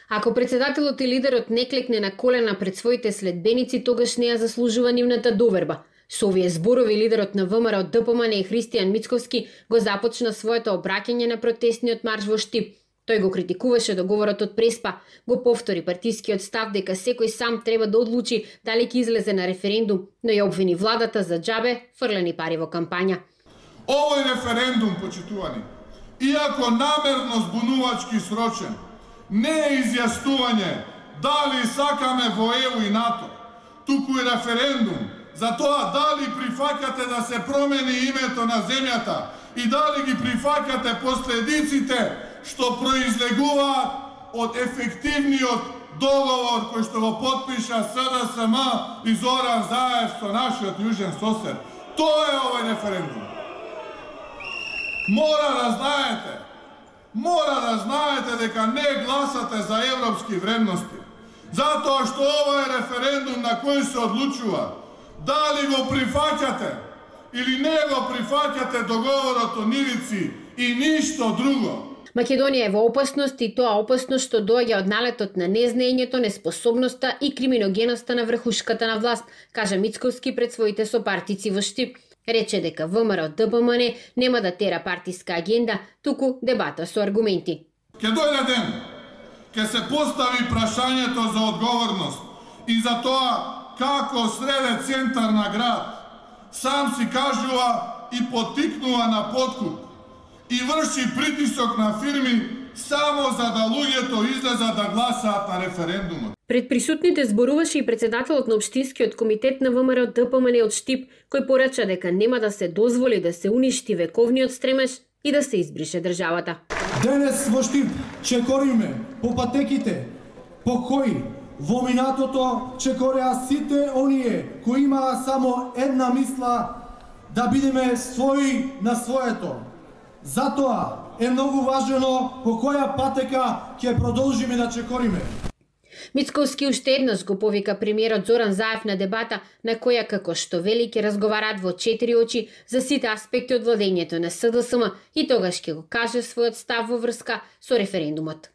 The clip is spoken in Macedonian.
Ако председателот и лидерот не клекне на колена пред своите следбеници, тогаш не ја заслужува нивната доверба. Со овие зборови лидерот на ВМРО ДПМН и Христијан Мицковски го започна своето обраќање на протестниот марш во Штип. Тој го критикуваше договорот од Преспа, го повтори партискиот став дека секој сам треба да одлучи дали ќе излезе на референдум, но ја обвини владата за џабе фрлени пари во кампања. Овој референдум, почитувани, иако намерно збунувачки срочен, не е изјаснување дали сакаме во ЕУ и НАТО, туку и референдум за тоа дали прифаќате да се промени името на земјата и дали ги прифаќате последиците што произлегуваат од ефективниот договор кој што го потпиша СДСМ и Зоран Заев со нашиот јужен сосед. Тоа е овој референдум. Мора да знаете дека не гласате за европски вредности, затоа што ова е референдум на кој се одлучува дали го прифаќате или не го прифаќате договорот од Ивици и ништо друго. Македонија е во опасност и тоа опасност што доаѓа од налетот на незнаењето, неспособноста и криминогеноста на врхушката на власт, кажа Мицковски пред своите сопартици во Штип. Рече дека ВМРО ДПМН нема да тера партиска агенда, туку дебата со аргументи. Ке дојде ден, ке се постави прашањето за одговорност и за тоа како среде центар на град сам си кажува и потикнува на подкуп и врши притисок на фирми само за да луѓето излезат да гласаат на референдумот. Пред присутните зборуваше и председателот на Општинскиот комитет на ВМРО ДПМН од Штип, кој порача дека нема да се дозволи да се уништи вековниот стремеж и да се избрише државата. Денес во Штип чекориме по патеките по кои во минатото чекореа сите оние кои имаа само една мисла да бидеме своји на своето. Затоа е многу важно по која патека ќе продолжиме да чекориме. Мицковски уште еднаш го повика премиерот Зоран Заев на дебата на која, како што вели, ќе разговараат во 4 очи за сите аспекти од владењето на СДСМ и тогаш ќе го каже својот став во врска со референдумот.